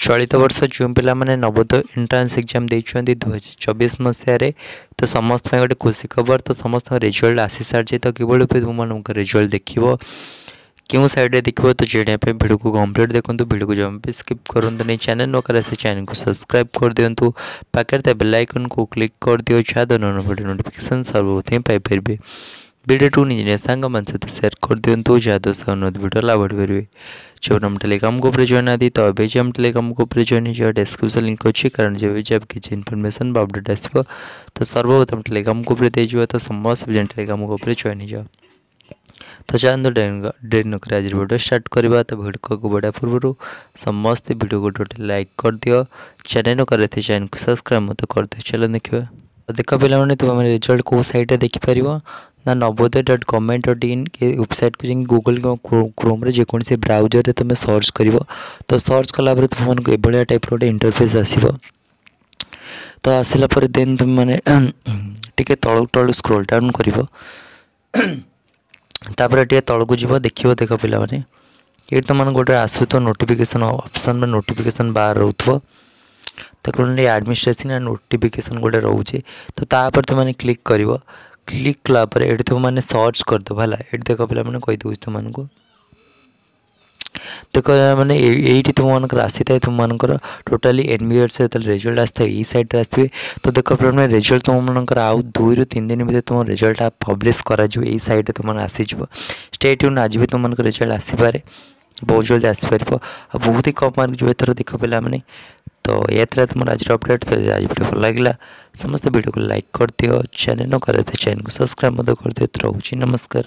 ଚଳିତ ବର୍ଷ ଯେଉଁ ପିଲାମାନେ ନବୋଦୟ ଏଣ୍ଟ୍ରାନ୍ସ ଏକ୍ଜାମ୍ ଦେଇଛନ୍ତି 2024 ମସିହାରେ, ତ ସମସ୍ତ ପାଇଁ ଗୋଟେ ଖୁସି ଖବର। ତ ସମସ୍ତଙ୍କ ରେଜଲ୍ଟ ଆସିସାରିଛି। ତ କିଭଳି ରୂପେ ତୁମମାନଙ୍କ ରେଜଲ୍ଟ ଦେଖିବ, କେଉଁ ସାଇଡ଼୍ରେ ଦେଖିବ, ତ ଜାଣିବା ପାଇଁ ଭିଡ଼ିଓକୁ କମ୍ପ୍ଲିଟ୍ ଦେଖନ୍ତୁ। ଭିଡ଼ିଓକୁ ଜମା ବି ସ୍କିପ୍ କରନ୍ତୁନି। ଚ୍ୟାନେଲ୍ ନ କରି ସେ ଚ୍ୟାନେଲକୁ ସବସ୍କ୍ରାଇବ୍ କରିଦିଅନ୍ତୁ, ପାଖରେ ଥିବା ବେଲ୍ ଆଇକନ୍କୁ କ୍ଲିକ୍ କରିଦିଅ, ଯାହାଦ୍ୱାରା ନୂଆ ଭିଡ଼ିଓ ନୋଟିଫିକେସନ୍ ସର୍ବପ୍ରଥମେ ପାଇପାରିବେ। ଭିଡ଼ିଓଟିକୁ ନିଜ ନିଜ ସାଙ୍ଗମାନଙ୍କ ସହିତ ସେୟାର କରିଦିଅନ୍ତୁ, ଯାହାଦ୍ୱାରା ସେମାନେ ମଧ୍ୟ ଭିଡ଼ିଓ ଲାଭ ଉଠାଇପାରିବେ। ଯେଉଁ ଆମ ଟେଲିଗ୍ରାମ ଗ୍ରୁପରେ ଜଏନ୍ ନାହାନ୍ତି, ତ ଏବେ ଯେ ଆମ ଟେଲିଗ୍ରାମ ଗ୍ରୁପରେ ଜଏନ୍ ହେଇଯିବ। ଡେସ୍କ୍ରିପସନ୍ ଲିଙ୍କ୍ ଅଛି, କାରଣ ଯେବେ ଯେବେ କିଛି ଇନଫର୍ମେସନ୍ ବା ଅପଡ଼େଟ୍ ଆସିବ, ତ ସର୍ବପ୍ରଥମ ଟେଲିଗ୍ରାମ ଗ୍ରୁପରେ ଦେଇଯିବ। ତ ସମସ୍ତେ ଟେଲିଗ୍ରାମ ଗ୍ରୁପରେ ଜଏନ୍ ହେଇଯାଅ। ତ ଚାଲନ୍ତୁ, ଡେରି ନକରି ଆଜିର ଭିଡ଼ିଓ ଷ୍ଟାର୍ଟ କରିବା। ତ ଭିଡ଼ିଓକୁ ବଢ଼ିବା ପୂର୍ବରୁ ସମସ୍ତେ ଭିଡ଼ିଓକୁ ଗୋଟେ ଲାଇକ୍ କରିଦିଅ, ଚ୍ୟାନେଲ୍ ନ କରିଥିଲେ ଚ୍ୟାନେଲକୁ ସବସ୍କ୍ରାଇବ୍ ମଧ୍ୟ କରିଦିଅ। ଚାଲ ଦେଖିବା। ଦେଖ ପିଲାମାନେ, ତୁମେ ରେଜଲ୍ଟ କେଉଁ ସାଇଟ୍ରେ ଦେଖିପାରିବ ନା navodaya.government.in ୱେବସାଇଟ୍କୁ ଯାଇକି ଗୁଗଲ୍ କ୍ରୋମ୍ରେ ଯେକୌଣସି ବ୍ରାଉଜରରେ ତୁମେ ସର୍ଚ୍ଚ କରିବ। ତ ସର୍ଚ୍ଚ କଲା ପରେ ତୁମମାନଙ୍କୁ ଏଭଳିଆ ଟାଇପ୍ର ଗୋଟେ ଇଣ୍ଟରଫେସ୍ ଆସିବ। ତ ଆସିଲା ପରେ ଦେନ୍ ତୁମେମାନେ ଟିକେ ତଳକୁ ତଳୁ ସ୍କ୍ରୋଲ୍ ଡାଉନ୍ କରିବ, ତାପରେ ଟିକେ ତଳକୁ ଯିବ, ଦେଖିବ। ଦେଖ ପିଲାମାନେ, ଏଇଠି ତୁମମାନଙ୍କୁ ଗୋଟେ ଆସୁଥିବ ନୋଟିଫିକେସନ୍ ଅପସନ୍ ବା ନୋଟିଫିକେସନ୍ ବାର୍ ରହୁଥିବ। ତ ଆଡ଼ମିନିଷ୍ଟ୍ରେସନ୍ ଆଣ୍ଡ ନୋଟିଫିକେସନ୍ ଗୋଟେ ରହୁଛି, ତ ତାପରେ ତୁମେ କ୍ଲିକ୍ କରିବ। କ୍ଲିକ୍ କଲା ପରେ ଏଠି ତୁମମାନେ ସର୍ଚ୍ଚ କରିଦେବ, ହେଲା। ଏଠି ଦେଖ ପିଲାମାନେ, କହିଦେଉଛି ତୁମମାନଙ୍କୁ। ଦେଖ ମାନେ, ଏଇଠି ତୁମମାନଙ୍କର ଆସିଥାଏ ତୁମମାନଙ୍କର ଟୋଟାଲି ଏନ୍ ବି ଏସ୍ ଯେତେବେଳେ ରେଜଲ୍ଟ ଆସିଥାଏ, ଏଇ ସାଇଡ଼୍ରେ ଆସିବେ। ତ ଦେଖ ପିଲାମାନେ, ରେଜଲ୍ଟ ତୁମମାନଙ୍କର ଆଉ 2ରୁ 3 ଦିନ ଭିତରେ ତୁମ ରେଜଲ୍ଟଟା ପବ୍ଲିଶ କରାଯିବ। ଏଇ ସାଇଡ଼୍ରେ ତୁମମାନେ ଆସିଯିବ। ଷ୍ଟେ ଟ୍ୟୁନ୍, ଆଜି ବି ତୁମମାନଙ୍କ ରେଜଲ୍ଟ ଆସିପାରେ, ବହୁତ ଜଲ୍ଦି ଆସିପାରିବ ଆଉ ବହୁତ ହି କମ୍ ମାର୍କ ଯିବ ଏଥର। ଦେଖ ପିଲାମାନେ, ତ ଏହା ଥିଲା ତୁମର ଆଜିର ଅପଡ଼େଟ୍। ତ ଆଜି ଭିଡ଼ିଓ ଭଲ ଲାଗିଲା, ସମସ୍ତେ ଭିଡ଼ିଓକୁ ଲାଇକ୍ କରିଦିଅ, ଚ୍ୟାନେଲ୍ ନ କରିଦିଅ ଚ୍ୟାନେଲକୁ ସବସ୍କ୍ରାଇବ୍ ମଧ୍ୟ କରିଦିଅ। ରହୁଛି, ନମସ୍କାର।